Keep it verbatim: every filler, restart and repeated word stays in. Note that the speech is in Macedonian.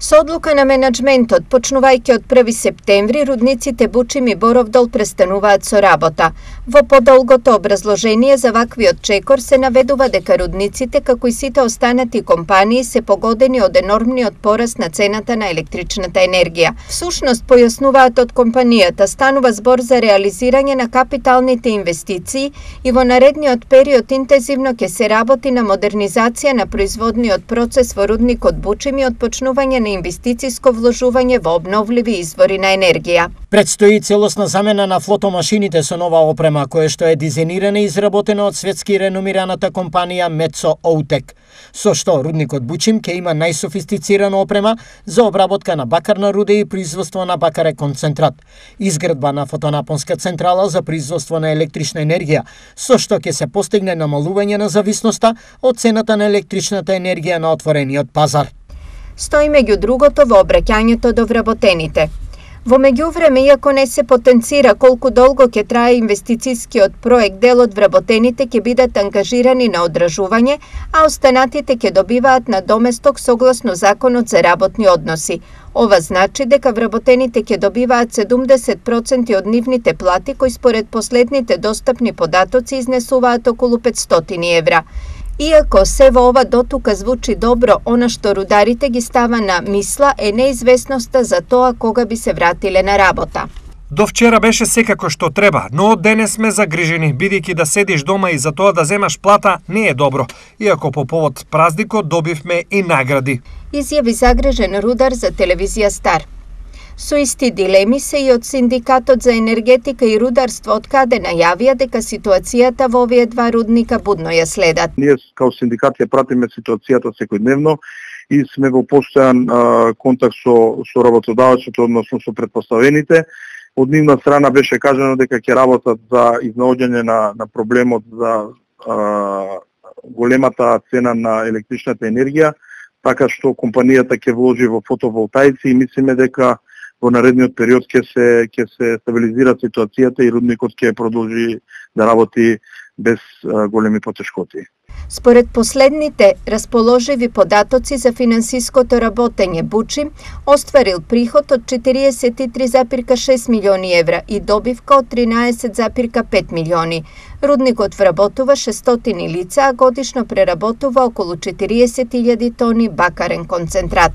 Со одлука на менаџментот, почнувајќи од први септември, рудниците Бучим и Боровдол престануваат со работа. Во подолгото образложение за ваквиот чекор се наведува дека рудниците, како и сите останати компании, се погодени од енормниот пораст на цената на електричната енергија. Всушност, појаснуваат од компанијата, станува збор за реализирање на капиталните инвестиции и во наредниот период интензивно ќе се работи на модернизација на производниот процес во рудникот Бучим и отпочнување на инвестициско вложување во обновливи извори на енергија. Предстои целосна замена на флотомашините со нова опрема, која што е дизајнирана и изработена од светски реномираната компанија Metso Outotec, со што рудникот Бучим ќе има најсофистицирана опрема за обработка на бакарна руда и производство на бакарен концентрат, изградба на фотонапонска централа за производство на електрична енергија, со што ќе се постигне намалување на зависноста од цената на електричната енергија на отворениот пазар. Стои меѓу другото во обраќањето до вработените. Во меѓувреме, иако не се потенцира колку долго ќе трае инвестицискиот проект, дел од вработените ќе бидат ангажирани на одражување, а останатите ќе добиваат надоместок согласно Законот за работни односи. Ова значи дека вработените ќе добиваат седумдесет проценти од нивните плати, кои според последните достапни податоци изнесуваат околу петстотини евра. Иако се во ова дотука звучи добро, она што рударите ги става на мисла е неизвестноста за тоа кога би се вратиле на работа. До вчера беше секако што треба, но од денес сме загрижени, бидејќи да седиш дома и за тоа да земаш плата не е добро, иако по повод празникот добивме и награди. Изјави загрижен рудар за телевизија Стар. Со исти дилеми се и од Синдикатот за енергетика и рударство, од каде најавија дека ситуацијата во овие два рудника будно ја следат. Ние као синдикат ја пратиме ситуацијата секојдневно и сме во постојан контакт со, со работодавачите, односно со претпоставените. Од нивна страна беше кажано дека ќе работат за изнаоѓање на, на проблемот за а, големата цена на електричната енергија, така што компанијата ќе вложи во фотоволтаици и мислиме дека во наредниот период ќе се ќе се стабилизира ситуацијата и рудникот ќе продолжи да работи без а, големи потешкоти. Според последните расположиви податоци за финансиското работење, Бучим остварил приход од четириесет и три запирка шест милиони евра и добивка од тринаесет запирка пет милиони. Рудникот вработува шестстотини лица, а годишно преработува околу четириесет илјади тони бакарен концентрат.